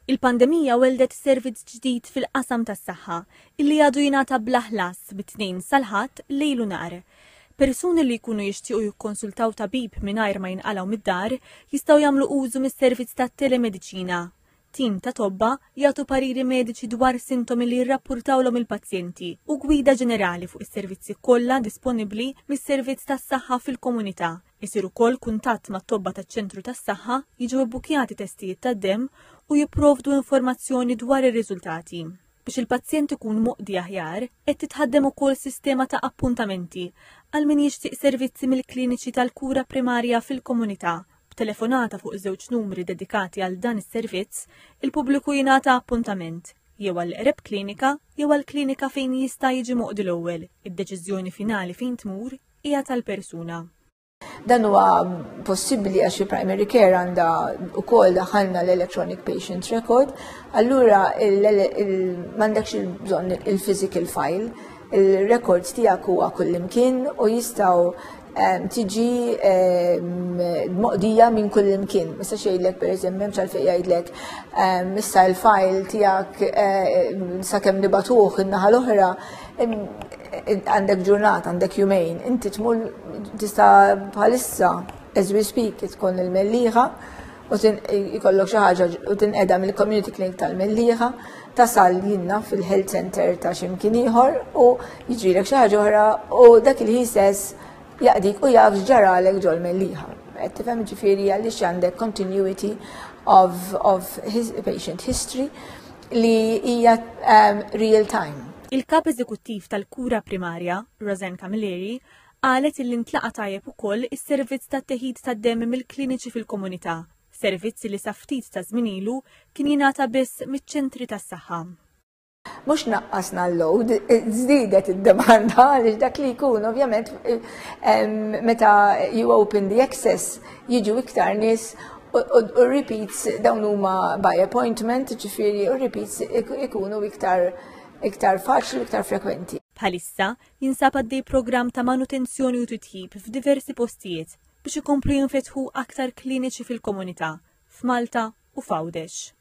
Il-pandemija welldet servizz ġdid fil-qasam tas-saħħa illi għadu jingħata bla ħlas mit-Tnejn sal-Ħadd lejl u nhar. Persuni li jkunu jixtiequ jikkonsultaw tabib mingħajr ma jinqalgħu mid-dar jistgħu jagħmlu użu mis-servizz tat-telemediċina. Tim ta' tobba jagħtu pariri mediċi dwar sintomi li jirrappurtawlhom il-pazjenti u gwida ġenerali fuq is-servizzi kollha disponibbli mis-servizz tas-saħħa fil-komunità. Isir ukoll kuntatt mat-tobba taċ-ċentru tas-saħħa, jiġu bbukkjati testijiet tad-demm u jipprovdu informazzjoni dwar ir-riżultati. Biex il-pazjent ikun moqdi aħjar, qed titħaddem ukoll sistema ta' appuntamenti għal min jixtieq servizzi mill-kliniċi tal-kura primarja fil-komunità. B'telefonata fuq żewġ numri dedikati għal dan is-servizz, il-pubbliku jingħata appuntament jew għall-eqreb klinika jew għall-klinika fejn jista' jiġi moqdi l-ewwel. Id-deċiżjoni finali fejn tmur hija tal-persuna. Dan huwa possibbli għax il-primary care għandha wkoll daħalna l-electronic patient record, allura m'għandekx il-bżonn il-physical file, il-records tiegħek huwa kullimkien u jistgħu tiġi moqdija minn kullimkien. Issa xejlek per eżempju, m'hemmx għalfejn jgħidlek issa l-file tiegħek sakemm nibatuh in-naħa l-oħra għandek ġurnata, għandek jumejn, inti tmur tista' bħalissa as we speak tkun il-Mellieħa u jkollok xi ħaġa u tinqeda mill-community clinic tal-Mellieħa, tasal jinna fil-health center ta' x'imkien ieħor u jiġrilek xi ħaġa oħra u dak il-ħin stess jaqdik u jaf x'ġaralek ġol-Mellieħa. Qed tifhem ġifieri għaliex għandek continuity of his patient history li hija real time. Il-Kap Eżekuttiv tal-Kura Primarja, Rosanne Camilleri, qalet illi ntlaqa' tajjeb ukoll is-servizz tat-teħid tad-demm mill-kliniċi fil-komunità, servizz li sa ftit ta' żmien ilu kien jingħata biss miċ-ċentri tas-saħħa. Mhux naqqasna l-load, żdiedet id-demanda għaliex dak li jkun ovvjament meta you open the access jiġu iktar nies u repeats dawn huma by appointment, ġifieri u repeats ikunu iktar iktar faċli u iktar frekwenti. Bħalissa jinsab għaddej programm ta' manutenzjoni u titjib f'diversi postijiet biex ikomplu jinfetħu aktar kliniċi fil-komunità, f'Malta u f'Għawdex.